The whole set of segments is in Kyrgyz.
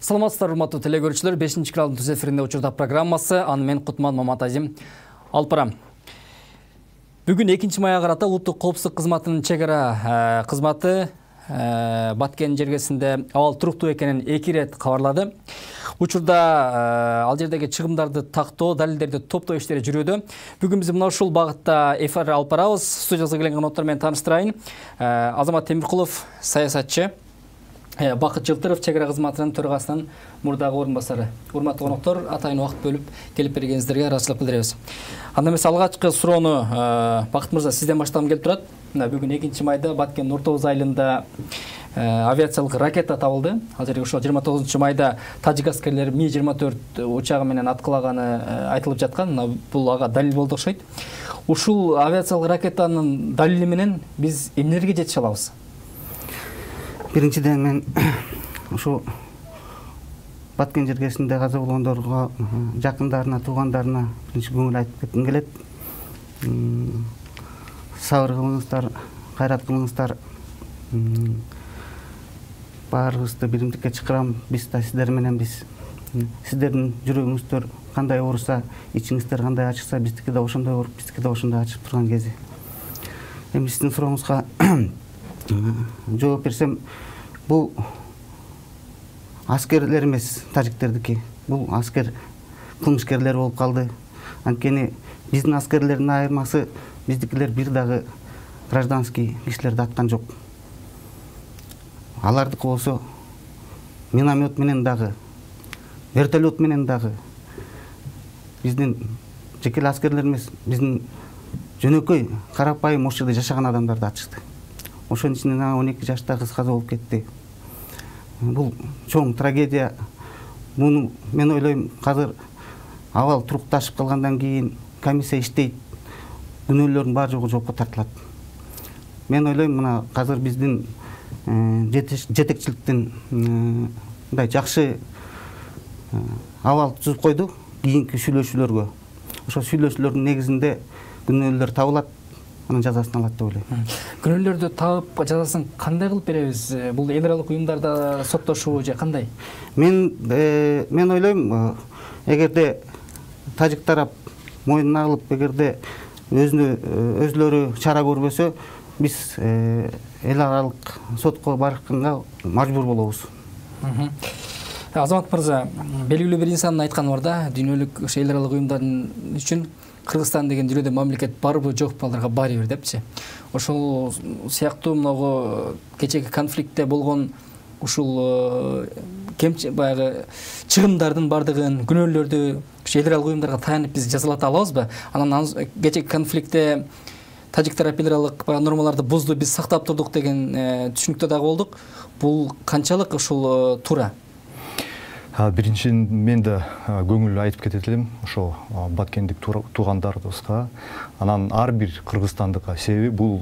Саламатсыздар, урматтуу телекөрүүчүлөр. 5-каналдын түз эфиринде учурда программасы. Аны мен Кутман Маматазим алып барам. Бүгүн 2-мая карата улуттук коопсуздук кызматынын чек ара кызматы Баткен жергесинде абал туруктуу экенин 2 рет кабарлады. Учурда ал жердеги чыгымдарды тактоо, далилдерди топтоо иштери жүрүүдө. Бүгүн биз мына ушул багытта эфир алып барабыз. Студиябызга келген конокторду менен тааныштырайын. Азамат Темиркулов, саясатчы. Бакыт Жылтыров, чек ара кызматынын төрагасынын мурдагы орун басары. Урматтуу коноктор, атайын убакыт бөлүп келип бергениңиздерге ыраазычылык билдиребиз. Анда эмес алгачкы суроону Бакыт мырза сизден баштагым келип турат. Бүгүн 2-майда Баткен Нуртоз айылында авиациялык ракета табылды. Ал жерге ошол 29-майда тажик аскерлери Ми-24 учагы менен аткылаганы айтылып жаткан. Бул ага далил болду окшойт. Ушул авиациялык ракетанын далили менен биз эмнелерге жетише алабыз? Биринчиден мен ушу Баткен жергесинде каза болгондорго, жакындарына, туугандарына биринчи көңүл айтып кетким келет. Сабыр кылыңыздар, кайрат кылыңыздар. Баарыбызды биримдикке чакырам. Биз да сиздер менен биз. Сиздердин жүрөгүңүздөр кандай ооруса, ичиңиздер кандай ачыкса, биздики да ошондой ооруп, биздики да ошондой ачып турган кези. Эми сиздин сурооңузга жооп берсем, бул аскерлер эмес, тажиктердики. Бул аскер кылмышкерлер болуп калды. Анткени биздин аскерлердин айырмасы, биздикилер бир дагы гражданский кишилерди аткан жок. Алардыкы болсо миномет менен дагы, вертолет менен дагы биздин жеке аскерлер эмес, биздин жөнөкөй карапайым ошол жерде жашаган адамдарды атышты. Ошонун ичинен 12 жаштагы кыз каза болуп кетти. Бул чоң трагедия. Муну мен ойлойм, азыр абал турукташып калгандан кийин комиссия иштейт, күнөөлөрдүн баары жогу жоопко тартылат. Мен ойлойм, мына азыр биздин жетекчиликтин мындай жакшы абал түзүп койду кийинки сүйлөшүүлөргө. Ошол сүйлөшүүлөрдүн негизинде күнөөлөр табылат, анын жазасын алат деп ойлойм. Күнөөлөрдү табып жазасын кандай кылып беребиз? Бул эл аралык уюмдарда соттошуу же кандай? Мен ойлойм, эгерде тажик тарап мойнуна алып, эгерде өзлөрү чара көрбөсө, биз эл аралык сотко барганга мажбур болобуз. Азамат мырза, белгилүү бир инсандын айтканы бар да, дүйнөлүк эл аралык уюмдардын үчүн Кыргызстан деген дүйнөдө мамлекет барбы жокпу, аларга баары бир депчи. Ошол сыяктуу мынагу кечеги конфликтте болгон ушул баягы чыгымдардын бардыгын, күнөөлөрдү эл аралык уюмдарга таянып биз жазалата алабызбы? Анан кечеги конфликтте тажик тарап эл аралык нормаларды бузду, биз сактап турдук деген түшүнүктө дагы болдук. Бул канчалык ушул туура? Биринчиден мен да көңүл айтып кетет элем ошо баткендик туугандарыбызга. Анан ар бир кыргызстандыкка, себеби бул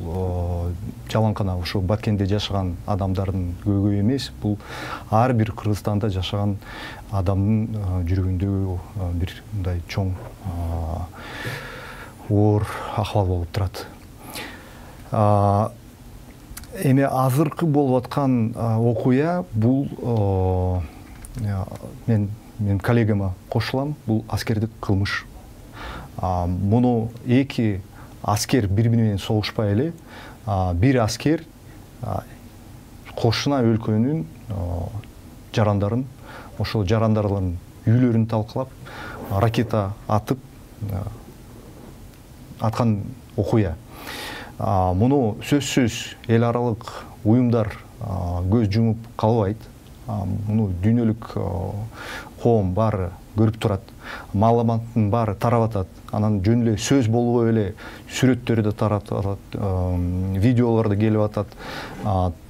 жалаңкана ошо Баткенде жашаган адамдардын көйгөйү эмес, бул ар бир Кыргызстанда жашаган адамдын жүрөгүндөгү бир мындай чоң оор акыбал болуп турат. Эми азыркы болуп аткан окуя бул мен коллегама кошулам, бул аскердик кылмыш. Муну эки аскер бири-бири менен согушпай эле, бир аскер кошуна өлкөнүн жарандарын, ошол жарандардын үйлөрүн талкалап, ракета атып аткан окуя. Муну сөзсүз эл аралык уюмдар көз жумуп калбайт. Муну дүйнөлүк коом баары көрүп турат. Маалыматтын баары тарап атат. Анан жөн эле сөз болбой эле сүрөттөрү да тарап атат, видеолор да келип атат.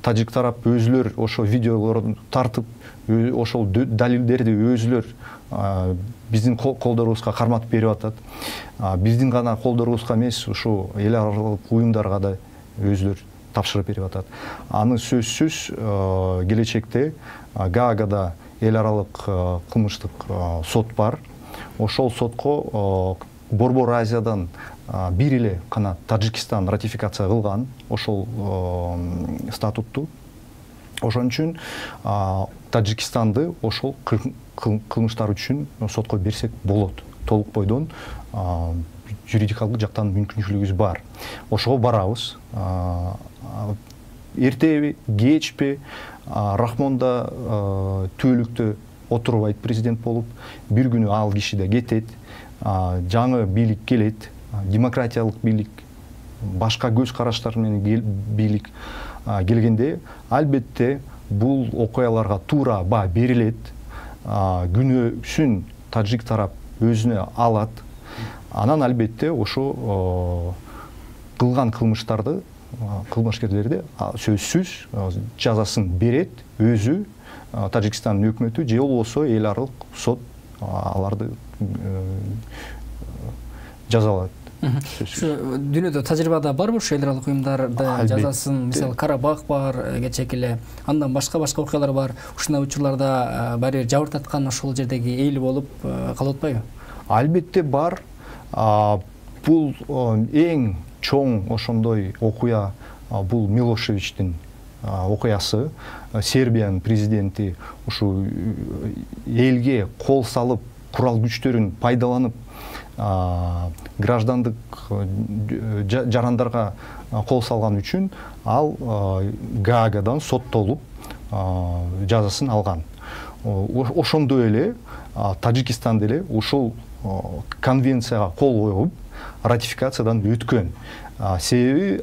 Тажик тарап өзүлөр ошо видеолорду тартып, ошол далилдерди өзүлөр биздин колдорубузга карматып берип атат. Биздин гана колдорубузга эмес, ушу эл аралык уюмдарга да өзүлөр тапшырып берип атат. Аны сөзсүз келечекте Гаагада эл аралык кылмыштык сот бар. Ошол сотко Борбор Азиядан бир эле гана Тажикстан ратификация кылган ошол статутту. Ошон үчүн Тажикстанды ошол кылмыштар үчүн сотко берсек болот. Толук бойдон юридикалык жактан мүмкүнчүлүгүбүз бар. Ошого барабыз. Эртеби, кечпи Рахмонда түбөлүктө отурбайт президент болуп, бир күнү ал киши да кетет, жаңы бийлик келет, демократиялык бийлик, башка көз караштар менен бийлик келгенде, албетте бул окуяларга туура баа берилет, күнөөсүн тажик тарап өзүнө алат. Анан албетте ошо кылган кылмыштарды кылмышкерлерди сөзсүз жазасын берет өзү Тажикстандын өкмөтү же болбосо эл аралык сот аларды жазалайт. Дүйнөдө тажрыйбада барбы ушу эл аралык уюмдарды жазасын, мисалы Карабах бар, кечээки эле, андан башка окуялар бар. Ушундай учурларда баары бир жабыртаткан ошол жердеги эл болуп калып атпайбы? Албетте бар. Бул эң чоң ошондой окуя бул Милошевичтин окуясы. Сербиянын президенти ушу элге кол салып, курал күчтөрүн пайдаланып, граждандык жарандарга кол салган үчүн ал Гаагадан соттолуп жазасын алган. Ошондой эле Тажикстан деле ушул конвенцияга кол коюп, ратификациядан өткөн. Себеби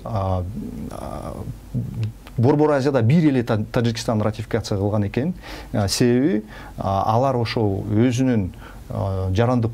Борбор Азияда бир эле Тажикстан ратификация кылган экен. Себеби алар ошол өзүнүн жарандык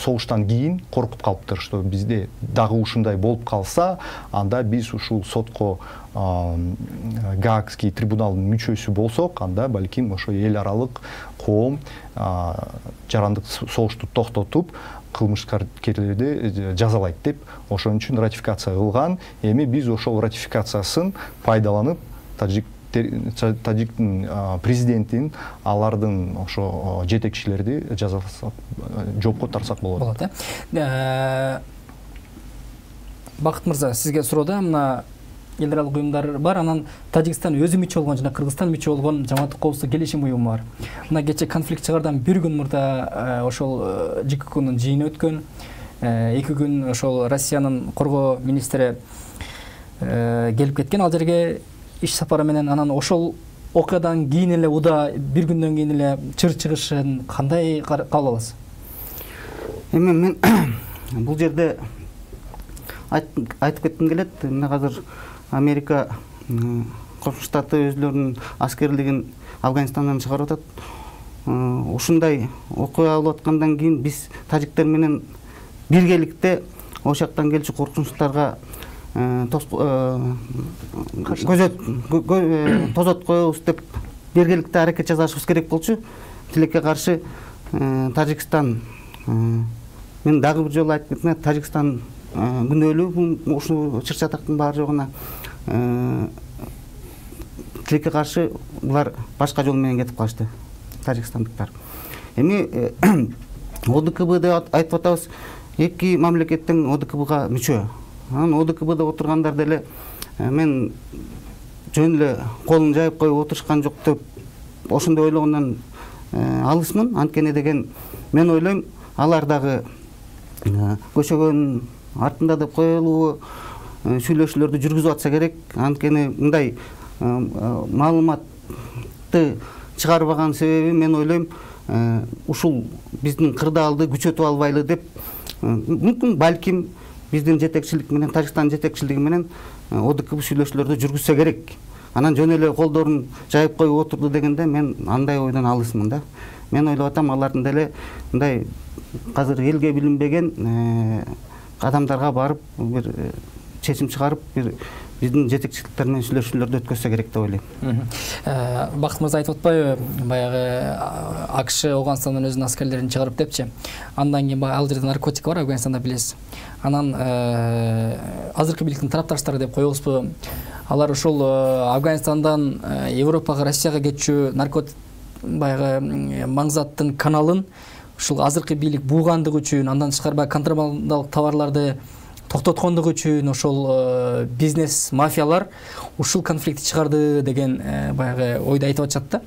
согуштан кийин коркуп калыптыр, что бизде дагы ушундай болуп калса, анда биз ушул сотко Гаагский трибуналдын мүчөсү болсок, анда балким ошо эл аралык коом жарандык согушту токтотуп, кылмышкерлерди жазалайт деп, ошон үчүн ратификация кылган. Эми биз ошол ратификациясын пайдаланып, Тажиктин президентин алардын ошо жетекчилерди жазаласак, жоопко тартсак болот. Бакыт мырза, сизге суроодо мына эл аралык уюмдар бар, анан Тажикстан өзү мүчө болгон жана Кыргызстан мүчө болгон Жамааттык коопсуздук келишим уюму бар. Мына кечээ конфликт чыгардан бир күн мурда ошол ЖККнын жыйыны өткөн. 2 күн ошол Россиянын коргоо министри келип кеткен ал жерге иш сапары менен. Анан ошол окуядан кийин эле уда бир күндөн кийин эле чыр чыгышын кандай кабыл аласыз? Эми мен бул жерде айтып кетким келет. Мына азыр Америка Кошмо Штаты өзлөрүнүн аскерлигин Афганистандан чыгарып атат. Ушундай окуя болуп аткандан кийин биз тажиктер менен биргеликте ошол жактан келчү коркунучтарга тозот коебуз деп биргеликте аракет жасашыбыз керек болчу. Тилекке каршы Тажикстан, мен дагы бир жолу айтып кетем, Тажикстан күнөөлүү ушул чыр чатактын баары жогуна. Тилекке каршы булар башка жол менен кетип калышты, тажикстандыктар. Эми ОДКБ деп айтып атабыз, эки мамлекеттин ОДКБга мүчө. Анан ОДКБда отургандар деле мен жөн эле колун жайып коюп отурушкан жок деп ошондой ойлогондон алысмын. Анткени деген мен ойлойм, алар дагы көчөгөн артында деп коелубу сүйлөшүүлөрдү жүргүзүп атса керек. Анткени мындай маалыматты чыгарбаган себеби мен ойлойм, ушул биздин кырдаалды күчөтүп албайлы деп. Мүмкүн балким биздин жетекчилик менен, Тажикстан жетекчилиги менен ОДКБ сүйлөшүүлөрдү жүргүзсө керек. Анан жөн эле колдорун жайып коюп отурду дегенде мен андай ойдон алысмын да. Мен ойлоп атам, алардын деле мындай азыр элге билинбеген адамдарга барып бир чечим чыгарып, бир биздин жетекчиликтер менен сүйлөшүүлөрдү өткөзсө керек деп ойлойм. Бакыт мырза айтып атпайбы, баягы АКШ Афганистандан өзүнүн аскерлерин чыгарып депчи. Андан кийин ал жерде наркотик бар, Афганистанда билесиз. Анан азыркы бийликтин тарапташтары деп коебузбу, алар ошол Афганистандан Европага, Россияга кетчү наркотик баягы маңзаттын каналын ушул азыркы бийлик буугандыгы үчүн, андан тышкары контрабандалык товарларды токтоткондугу үчүн ошол бизнес мафиялар ушул конфликтти чыгарды деген баягы ойду айтып атышат да.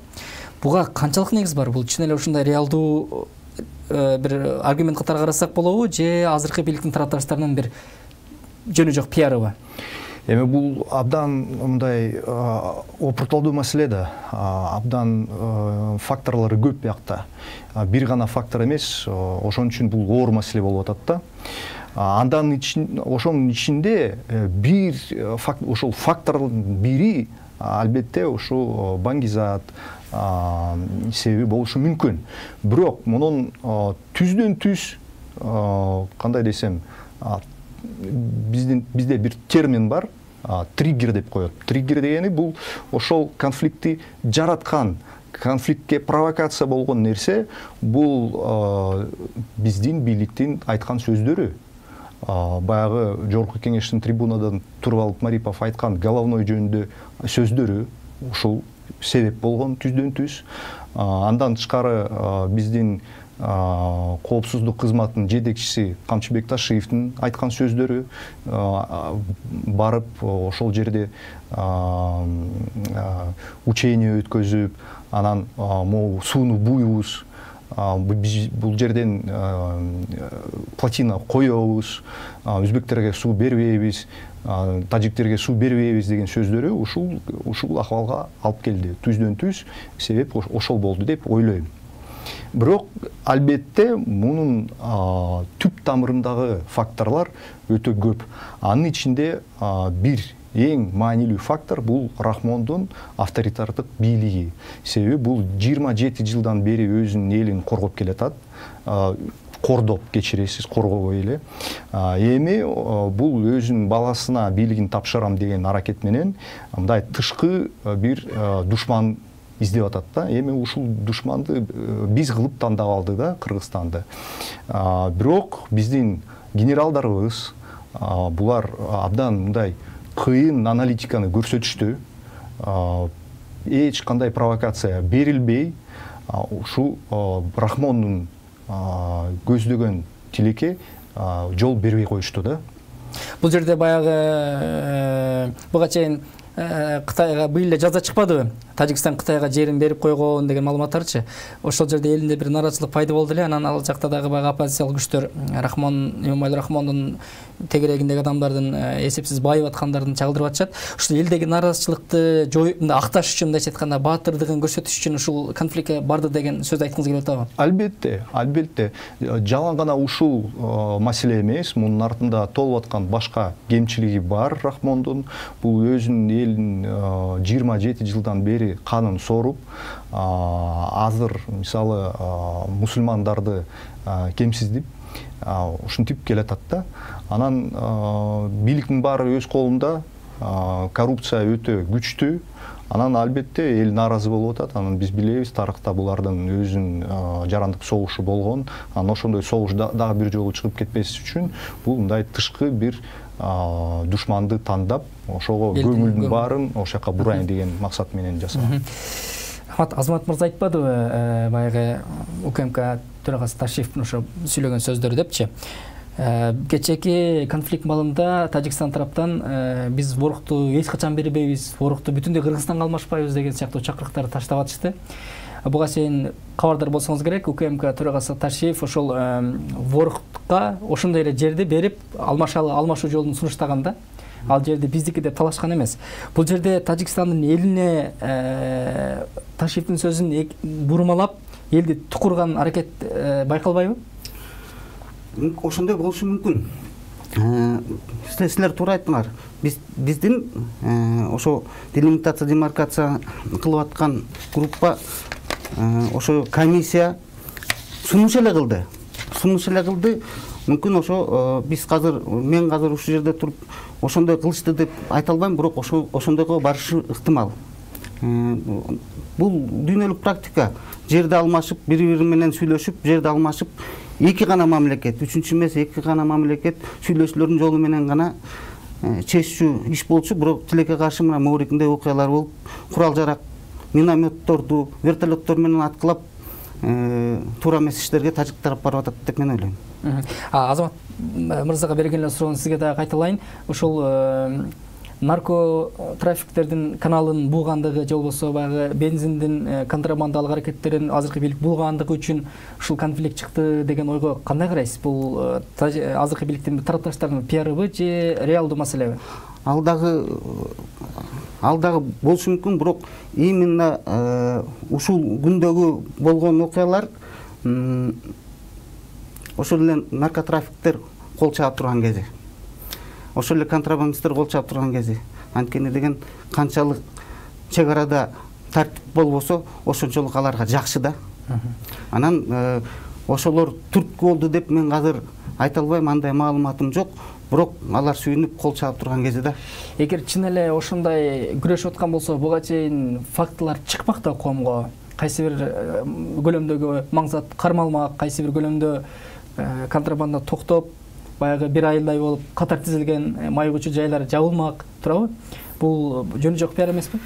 Буга канчалык негиз бар? Бул чын эле ушундай реалдуу бир аргумент катары карасак болобу, же азыркы бийликтин тарапташтарынын бир жөнү жок пиарыбы? Эми бул абдан мындай опуртолдуу маселе да. Абдан факторлору көп биякта. Бир гана фактор эмес, ошон үчүн бул оор маселе болуп атат да. Ошонун ичинде бир ошол фактордун бири албетте ушул Баңгизат себеби болушу мүмкүн. Бирок мунун түздөн түз кандай десем, бизде бир термин бар, триггер деп коет. Триггер дегени бул ошол конфликтти жараткан, конфликтке провокация болгон нерсе, бул биздин бийликтин айткан сөздөрү. Баягы жогорку кеңештин трибунадан туруп алып Марипов айткан головной жөнүндө сөздөрү ушул себеп болгон түздөн түз. Андан тышкары биздин коопсуздук кызматынын жетекчиси Камчыбек Ташиевдин айткан сөздөрү, барып ошол жерде учение өткөзүп, анан могу сууну буйбуз, бул жерден плотина коебуз, өзбектерге суу бербейбиз, тажиктерге суу бербейбиз деген сөздөрү ушул акыбалга алып келди. Түздөн түз себеп ошол болду деп ойлойм. Бирок албетте мунун түп тамырындагы факторлор өтө көп. Анын ичинде бир эң маанилүү фактор бул Рахмондун авторитардык бийлиги. Себеби бул 27 жылдан бери өзүнүн элин коргоп келатат. Кордоп, кечиресиз, коргобой эле. Эми бул өзүнүн баласына бийлигин тапшырам деген аракет менен мындай тышкы бир душман издеп атат да. Эми ушул душманды биз кылып тандап алды да Кыргызстанды. Бирок биздин генералдарыбыз булар абдан мындай кыйын аналитиканы көрсөтүштү. Эч кандай провокация берилбей, ушул Рахмондун көздөгөн тилекке жол бербей коюшту да. Бул жерде баягы буга чейин Кытайга быйыл эле жаза чыкпадыбы? Тажикстан Кытайга жерин берип койгон деген маалыматтарчы. Ошол жерде элинде бир нараачылык пайда болду эле. Анан ал жакта дагы баягы оппозициялык күчтөр Эмомали Рахмондун тегерегиндеги адамдардын эсепсиз байып аткандарын чагылдырып атышат. Ушул элдеги нараачылыкты жоюп, акташ үчүн, мындайча айтканда, баатырдыгын көрсөтүш үчүн ушул конфликтке барды деген сөз айткыңыз келип атабы? Албетте. Жалаң гана ушул маселе эмес, мунун артында толуп аткан башка кемчилиги бар Рахмондун. Бул өзүнүн элин 27 жылдан бери канын соруп, азыр мисалы мусулмандарды кемсиздип, ушинтип келатат да. Анан бийликтин баары өз колунда, коррупция өтө күчтүү. Анан албетте эл нааразы болуп атат. Анан биз билебиз, тарыхта булардын өзүнүн жарандык согушу болгон. Анан ошондой согуш дагы бир жолу чыгып кетпес үчүн бул мындай тышкы бир душманды тандап, ошого көңүлдүн баарын ошол жака бурайын деген максат менен жасаган. Азамат мырза айтпадыбы, баягы УКМК төрагасы Ташиевдин ошо сүйлөгөн сөздөрү депчи. Кечээки конфликт маалында Тажикстан тараптан биз ворукту эч качан бербейбиз, ворукту бүтүндөй Кыргызстанга алмашпайбыз деген сыяктуу чакырыктарды таштап атышты. Буга чейин кабардар болсоңуз керек, УКМК төрагасы Ташиев ошол ворукка ошондой эле жерди берип алмашуу жолун сунуштаган да. Ал жерди биздики деп талашкан эмес. Бул жерде Тажикстандын элине Ташиевдин сөзүн бурмалап, элди тукурган аракет байкалбайбы? Ошондой болушу мүмкүн. Силер туура айттыңар. Биздин ошо делимитация, демаркация кылып аткан группа, ошо комиссия сунуш эле кылды. Мүмкүн ошо биз мен азыр ушул жерде туруп ошондой кылышты деп айта албайм, бирок ошондойго барышы ыктымал. Бул дүйнөлүк практика. Жерди алмашып, бири-бири менен сүйлөшүп, жерди алмашып, эки гана мамлекет, үчүнчү эмес, эки гана мамлекет сүйлөшүүлөрдүн жолу менен гана чечүү иш болчу. Бирок тилекке каршы мына Морикиндей окуялар болуп, курал-жарак, минометторду, вертолеттор менен аткылап туура эмес иштерге тажик тарап барып атат деп мен ойлойм. Азамат мырзага берген эле суроону сизге дагы кайталайын. Ошол нарко трафиктердин каналын булгандыгы же болбосо баягы бензиндин контрабандалык аракеттерин азыркы бийлик булгандыгы үчүн ушул конфликт чыкты деген ойго кандай карайсыз? Бул азыркы бийликтин тарапташтарынын пиарыбы же реалдуу маселеби? Ал дагы болушу мүмкүн, бирок именно ушул күндөгү болгон окуялар ошол эле наркотрафиктер кол чаап турган кези, ошол эле контрабандисттер кол чаап турган кези. Анткени деген канчалык чек арада тартип болбосо ошончолук аларга жакшы да. Анан ошолор түрткү болду деп мен азыр айта албайм, андай маалыматым жок. Бирок алар сүйүнүп кол чаап турган кези да. Эгер чын эле ошондой күрөшүп аткан болсо, буга чейин фактылар чыкпак да коомго. Кайсы бир көлөмдөгү маңзат кармалмак, кайсы бир көлөмдө контрабанда токтоп, баягы бир айылдай болуп катар тизилген майгучу жайлар жабылмак, туурабы? Бул жөн жок пиар эмеспи?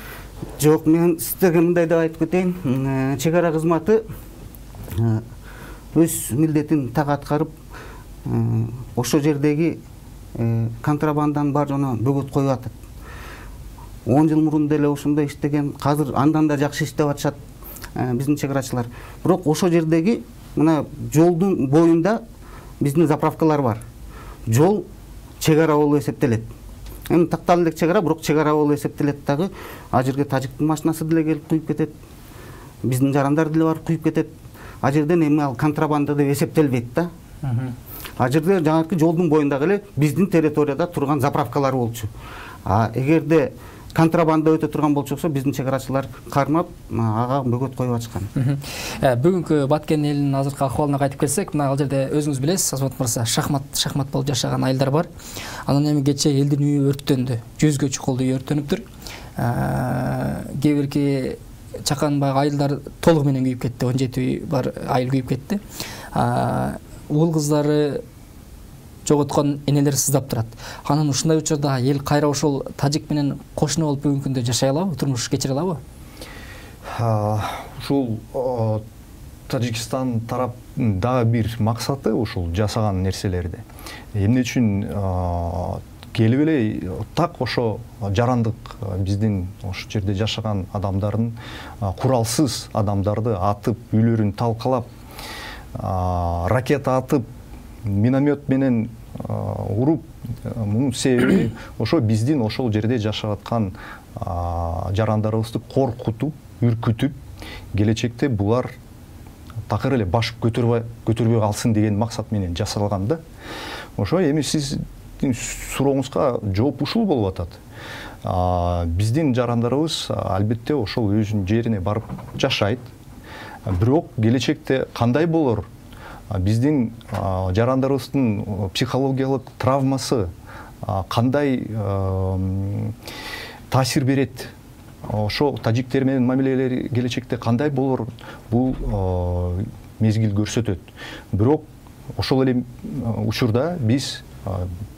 Жок, мен сиздерге мындай деп айтып кетейин. Чек ара кызматы өз милдетин так аткарып, ошол жердеги контрабанданын бар жоона бөгөт коюп атат. 10 жыл мурун деле ошондой иштеген, азыр андан да жакшы иштеп атышат биздин чек арачылар. Бирок ошол жердеги мына жолдун боюнда биздин заправкалар бар. Жол чек ара болуп эсептелет. Эми такталуу элек чек ара, бирок чек ара болуп эсептелет дагы. А жерге тажиктин машинасы деле келип куюп кетет. Биздин жарандар деле барып куюп кетет. А жерден эми ал контрабанда деп эсептелбейт да. А жерде жаңыркы жолдун боюндагы эле биздин территорияда турган заправкалар болчу. А эгерде контрабанда өтө турган болчоксо, биздин чек арачылар кармап, ага бөгөт коюп атышкан. Бүгүнкү Баткен элинин азыркы акыбалына кайтып келсек, мына ал жерде өзүңүз билесиз, Азамат мырза, шахмат болуп жашаган айылдар бар. Анан эми кечээ элдин үйү өрттөндү. 100гө чукулду үй өрттөнүптүр. Кээ бирки чакан баягы айылдар толугу менен күйүп кетти. 17 үй бар айыл күйүп кетти. Уул кыздары жоготкон энелер сыздап турат. Анан ушундай учурда эл кайра ошол тажик менен кошуна болуп бүгүнкү күндө жашай алабы, турмуш кечире алабы? Ушул Тажикстан тараптын дагы бир максаты ушул жасаган нерселерди. Эмне үчүн келип эле так ошо жарандык биздин ошол жерде жашаган адамдардын, куралсыз адамдарды атып, үйлөрүн талкалап, ракета атып, миномет менен уруп, мунун себеби ошо биздин ошол жерде жашап аткан жарандарыбызды коркутуп, үркүтүп, келечекте булар такыр эле баш көтөрбөй калсын деген максат менен жасалган да. Ошо эми сиздин сурооңузга жооп ушул болуп атат. Биздин жарандарыбыз албетте ошол өзүнүн жерине барып жашайт. Бирок келечекте кандай болор? Биздин жарандарыбыздын психологиялык травмасы кандай таасир берет? Ошо тажиктер менен мамилелери келечекте кандай болор? Бул мезгил көрсөтөт. Бирок ошол эле учурда биз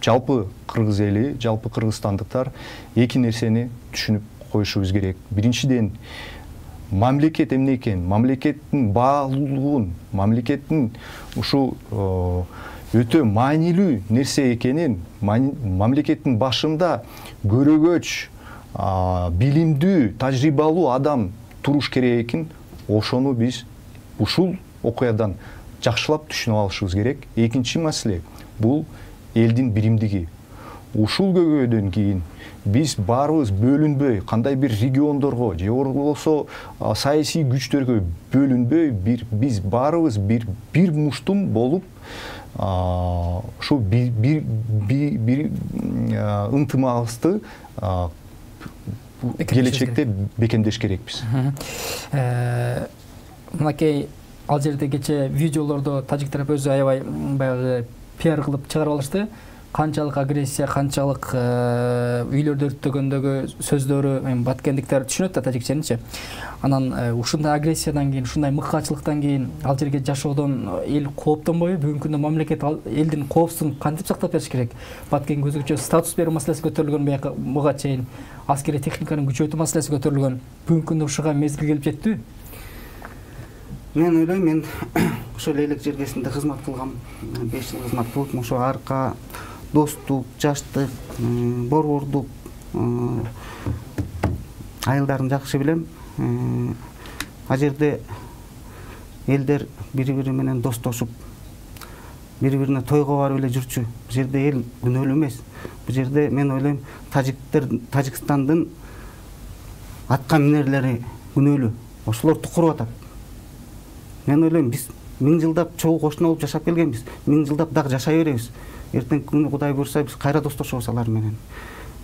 жалпы кыргыз эли, жалпы кыргызстандыктар эки нерсени түшүнүп коюшубуз керек. Биринчиден, мамлекет эмне экен, мамлекеттин баалуулугун, мамлекеттин ушул өтө маанилүү нерсе экенин, мамлекеттин башында көрөгөч, билимдүү, тажрыйбалуу адам туруш керек экен. Ошону биз ушул окуядан жакшылап түшүнүп алышыбыз керек. Экинчи маселе бул элдин биримдиги. Ушул көйгөйдөн кийин биз баарыбыз бөлүнбөй, кандай бир региондорго же болбосо саясий күчтөргө бөлүнбөй, биз баарыбыз бир муштум болуп, ушул бир ынтымагыбызды келечекте бекемдеш керекпиз. Мынакей ал жерде кечээ видеолордо тажик тарап өзү аябай баягы пиар кылып чыгарып алышты. Канчалык агрессия, канчалык үйлөрдү өрттөгөндөгү сөздөрү эми баткендиктер түшүнөт да тажикченичи. Анан ушундай агрессиядан кийин, ушундай мыкаачылыктан кийин ал жерге жашоодон эл кооптонбойбу? Бүгүнкү күндө мамлекет элдин коопсуздугун кантип сактап бериш керек? Баткенге өзгөчө статус берүү маселеси көтөрүлгөн, буга чейин аскерий техниканын күчөтүү маселеси көтөрүлгөн. Бүгүнкү күндө ушуга мезгил келип жеттиби? Мен ойлойм, мен ошол элек жергесинде кызмат кылгам, 5 жыл кызмат кылып, ошо арка, достук, жаштык, борбордук айылдарын жакшы билем. А жерде элдер бири-бири менен достошуп, бири-бирине тойго барып эле жүрчү. Бул жерде эл күнөөлүү эмес. Бул жерде мен ойлойм, Тажикстандын атка минерлери күнөөлүү. Ошолорду куруп атат. Мен ойлойм, биз 1000 жылдап чогуу кошуна болуп жашап келгенбиз. 1000 жылдап дагы жашай беребиз. Эртеңки күнү Кудай буйрса, биз кайра достошобуз алар менен.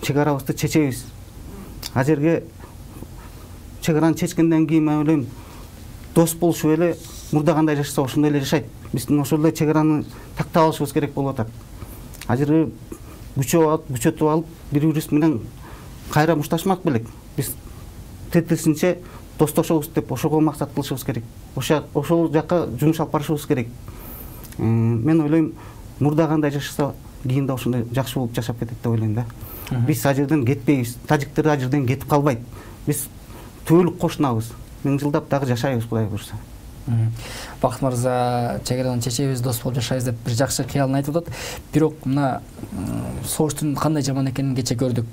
Чек арабызды чечебиз. А жерге чек араны чечкенден кийин мен ойлойм, дос болушуп эле мурда кандай жашаса ошондой эле жашайт. Биздин ошол эле чек араны тактап алышыбыз керек болуп атат. А жерге күчөтүп алып, бири-бирибиз менен кайра мушташмак белек. Биз тетирисинче достошобуз деп ошого максат кылышыбыз керек. Ошол жакка жумуш алып барышыбыз керек. Мен ойлойм, мурда кандай жашаса, кийин да ошондой жакшы болуп жашап кетет деп ойлойм да. Биз ал жерден кетпейбиз. Тажиктер ал жерден кетип калбайт. Биз түбөлүк кошунабыз. 1000 жылдап дагы жашайбыз, Кудай буйрса. Бакыт мырза, чек арадан чечебиз, дос болуп жашайбыз деп бир жакшы кыялын айтып атат. Бирок мына согуштун кандай жаман экенин кече көрдүк.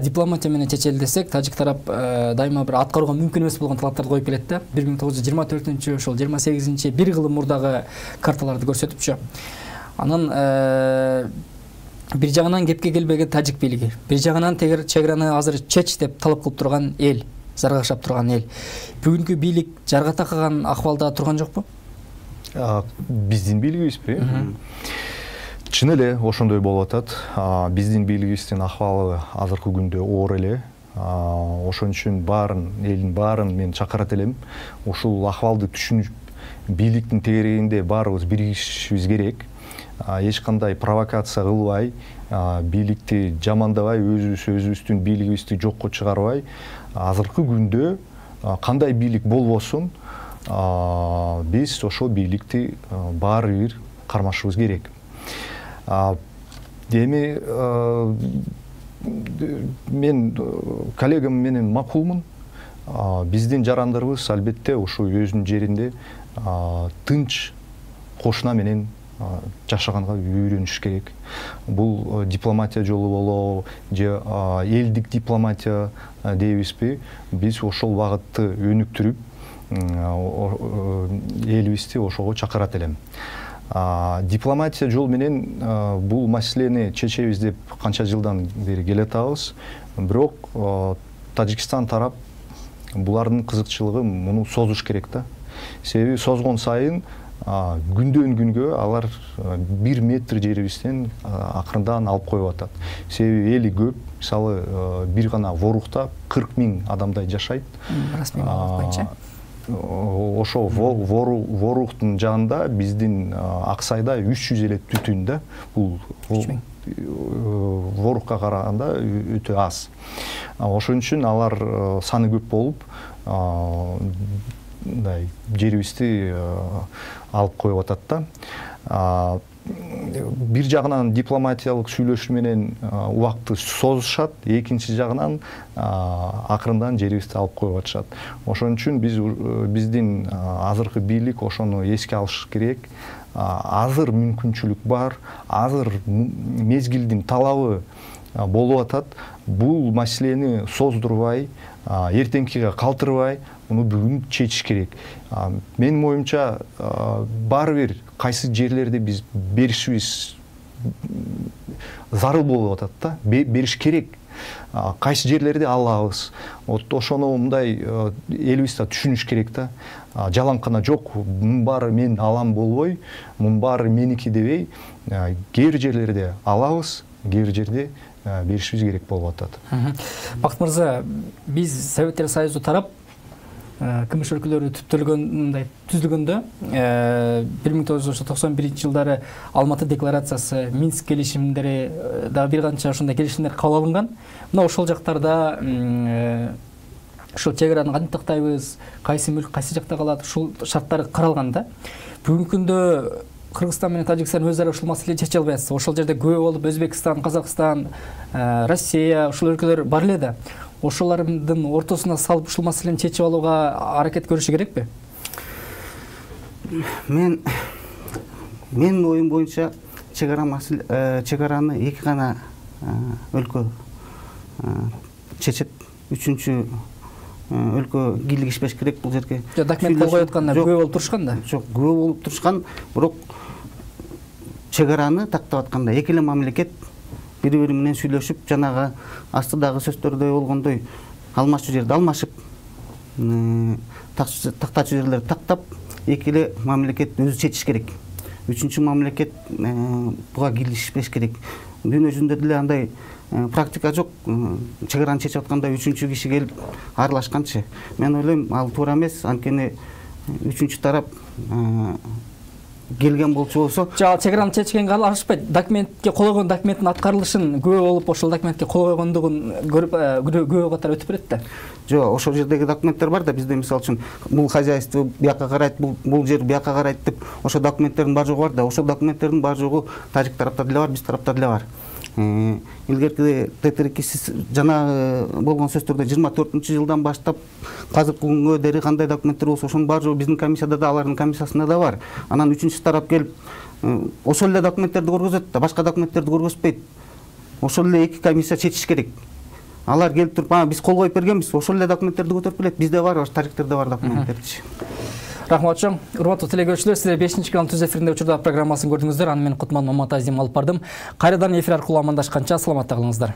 Дипломатия менен чечели десек, тажик тарап дайыма бир аткарууга мүмкүн эмес болгон талаптарды коюп келет да. 1924-ошол 28-1 кылым мурдагы карталарды көрсөтүпчү. Анан бир жагынан кепке келбеген тажик бийлиги, бир жагынан чек араны азыр чеч деп талап кылып турган эл, заргашап турган эл. Бүгүнкү бийлик жарга такаган акыбалда турган жокпу? Биздин бийлигибизби? Чын эле ошондой болуп атат. Биздин бийлигибиздин акыбалы азыркы күндө оор эле. Ошон үчүн элдин баарын мен чакырат элем. Ушул акыбалды түшүнүп, бийликтин тегерегинде баарыбыз биригишибиз керек. Эч кандай провокация кылбай, бийликти жамандабай, өзүбүздүн бийлигибизди жокко чыгарбай, азыркы күндө кандай бийлик болбосун, биз ошол бийликти баары бир кармашыбыз керек. Эми мен коллегам менен макулмун. Биздин жарандарыбыз албетте ушу өзүнүн жеринде тынч кошуна менен жашаганга үйрөнүш керек. Бул дипломатия жолу болобу же элдик дипломатия дейбизби? Биз ошол багытты өнүктүрүп, элибизди ошого чакырат элем. Дипломатия жол менен бул маселени чечебиз деп канча жылдан бери келатабыз. Бирок Тажикстан тарап булардын кызыкчылыгы муну созуш керек да. Себеби созгон сайын күндөн күнгө алар 1 метр жерибизден акырындан алып коюп атат. Себеби эли көп. Мисалы, бир гана Ворухта 40 000 адамдай жашайт. Расмий маалымат боюнча. Ошо Ворухтун жанында биздин Аксайда 300 эле түтүн да. Бул Ворухка караганда өтө аз. Ошон үчүн алар саны көп болуп, жерибизди алып коюп атат да. Бир жагынан дипломатиялык сүйлөшүү менен убакытты созушат, экинчи жагынан акырындан жерибизди алып коюп атышат. Ошон үчүн биздин азыркы бийлик ошону эске алыш керек. Азыр мүмкүнчүлүк бар, азыр мезгилдин талабы болуп атат. Бул маселени создурбай, эртеңкиге калтырбай, муну бүгүн чечиш керек. Менин оюмча, баары бир кайсы жерлерде биз беришибиз зарыл болуп атат да, бериш керек. Кайсы жерлерде алабыз. Ошону мындай элибиз да түшүнүш керек да. Жаланкана жок, мунун баары мен алам болбой, мунун баары меники дебей, кээ бир жерлерде алабыз, кээ бир жерде беришибиз керек болуп атат. Бакыт мырза, биз Советтер Союзу тарап КМШ өлкөлөрү түзүлгөндө 1991 жылдары Алматы декларациясы, Минск келишимдери да бир канча ошондой келишимдер кабыл алынган. Мына ошол жактарда ушул чек араны кантип тактайбыз, кайсы мүлк кайсы жакта калат, ушул шарттар каралган да. Бүгүнкү күндө Кыргызстан менен Тажикстан өз ара ушул маселени чече албай атышат. Ошол жерде күбө болуп Өзбекстан, Казакстан, Россия ушул өлкөлөр бар эле да. Ошолордун ортосуна салып ушул маселени чечип алууга аракет көрүшү керекпи? Менин оюм боюнча чегараны эки гана өлкө чечет. Үчүнчү өлкө кийлигишпеш керек бул жерге. Документ кол коюп атканда күбө болуп турушкан да? Жок, күбө болуп турушкан, бирок чегараны тактап атканда эки эле мамлекет бири-бири менен сүйлөшүп, жанагы астыдагы сөздөрдөй болгондой алмашчу жерди алмашып, тактачу жерлерди тактап, эки эле мамлекет өзү чечиш керек. Үчүнчү мамлекет буга кийлигишпеш керек. Дүйнө жүзүндө деле андай практика жок. Чегараны чечип атканда үчүнчү киши келип аралашканчы. Мен ойлойм, ал туура эмес. Анткени үчүнчү тарап келген болчу болсо, чегараны чечкенге алышпайт. Документке кол койгон документтин аткарылышын күбө болуп, ошол документке кол койгондугун көрүп күбө катары өтүп берет да. Жок, ошол жердеги документтер бар да, бизде мисалы үчүн бул хозяйство бияка карайт, бул жер бияка карайт деп, ошол документтердин бар жогу бар да. Ошол документтердин бар жогу тажик тарапта деле бар, биз тарапта деле бар. Илгерки Т-2 жана болгон сөздөрдө 24-жылдан баштап азыркы күнгө дери кандай документтер болсо, ошонун бар жогу биздин комиссияда да, алардын комиссиясында да бар. Анан үчүнчү тарап келип ошол эле документтерди көргөзөт да, башка документтерди көргөзбөйт. Ошол эле эки комиссия чечиш керек. Алар келип туруп, биз кол коюп бергенбиз, ошол эле документтерди көтөрүп келет. Бизде бар, тажиктерде бар документтерчи. Рахмат чоң. Урматтуу телекөрүүчүлөр, сиздер 5-чи канал түз эфиринде учурда программасын көрдүңүздөр. Аны мен Кутман Маматазим алып бардым. Кайрадан эфир аркылуу амандашканча саламатта калыңыздар.